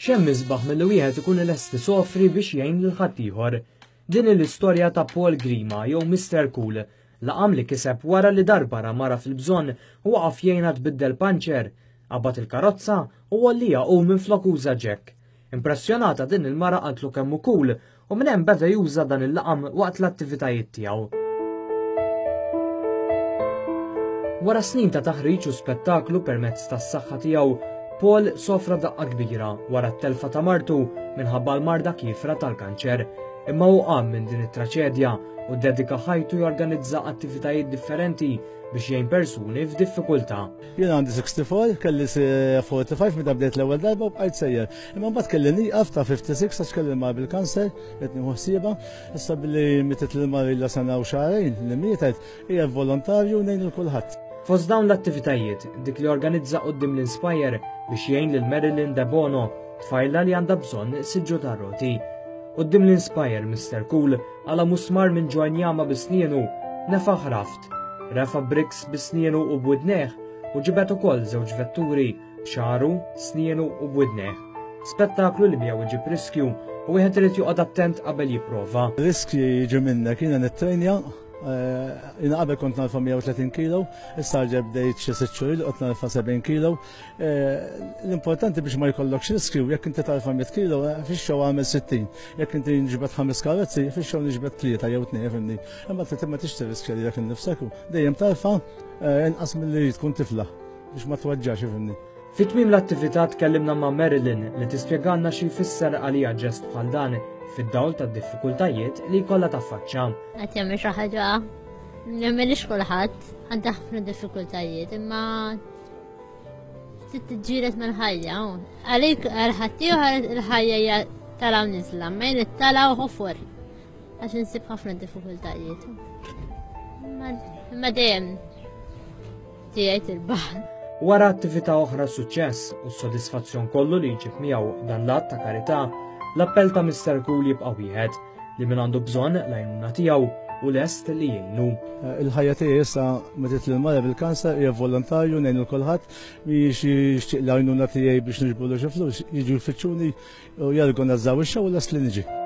X'hemm isbaħ milli wieħed ikun lest isofri biex jgħin lil ħaddieħor. Din hi l-istorja ta' Paul Grima jew Mister Cool, laqam li kiseb wara li darba ra mara fil-bżonn u waqaf jgħinha tbiddel panċer, qabad il-karozza u għollieha hu minflok uża jack. Impressjonata din il-mara qaltlu kemm hu cool u minn hemm beda juża dan il-laqam waqt l-attivitajiet tiegħu. Wara snin ta' taħriġ u spettaklu permezz tas-saħħa tiegħu, Paul sofra daqqa kbira wara t-telfa ta' martu minħabba l-marda kiefra tal-kanċer. Imma hu qam minn din it-traċedja u ddedika ħajtu jorganizza attivitajiet differenti biex jgħin persuni f'diffikultà. Jien għandi 64, kelli 45 meta bdejt l-ewwel darba u bqajt sejjer. Imma mbagħad kelli nieqaf ta' 56 għax kelli mar bil-kanser, qed nieħu ħsiebha. Issa billi mietet lil mara ilha sena u xahrejn li mietet, hija volontarju ngħin lil kulħadd. Fost dawn l-attivitajiet, dik li organizza quddiem l-Inspire biex jgħin lil Marilyn Debono, tfajla li għandha bżonn siġġu tar-roti. Quddiem l-Inspire, Mister Cool qala' musmar minn ġo injama bi snienu, nefaħ raft, refa' bricks bi snienu u b'widnejh u ġibed ukoll żewġ vetturi b'xagħru, snienu u b'widnejh. Spettaklu li miegħu iġib riskju u wieħed irid joqgħod attent qabel jipprova. Riskji jiġu minnek, jiena nittrejnja, eh, jiena qabel kont narfa 130 kilo, issa ġeb bdejt xi sitt xhur qed narfa 70 kilo. Eh, l-importanti biex ma jkollokx riskju, jekk inti tarfa 100 kilo, eh, fix-xew għamel 60. Jekk inti nġbed ħames karozzi, fix-xew nġbed tlieta jew tnejn, fimni. Imma trid ma tixtri riskju lilek innifsek u dejjem tarfa inqas milli tkun tifla. Biex ma tweġġax, ifhimni. Fi tmiem l-attività tkellimna ma' Marilyn li tispjegalna xi jfisser għaliha ġest bħal dan fid-dawl tad-diffikultajiet li jkollha taffaċċa. Qed jagħmel xi ħaġa li m'għamilx kulħadd, għandha ħafna diffikultajiet, imma trid tiġġieled mal-ħajja. Għalik għal ħaddieħor il-ħajja hija tala' u niżla, ma jien it-tala' u ħofor. Għax insib ħafna diffikultajiet. Imma dejjem tiegħi tirbaħ. Wara attività oħra suċċess u s-sodisfazzjon kollu li jġib miegħu dan l-att ta' karità, l-appell ta' Mister Cool jibqa' wieħed li min għandu bżonn l-għajnuna tiegħu u lest li jgħinu. Eh, il-ħajja tiegħi issa meta lil mara bil-kanser hija volontarju ngħinu l kulħadd biex jixtieq l-għajnuna tiegħi biex niġbulu xi flus jiġu jfittxuni u jargonazzaw ix-xogħol lest li niġi.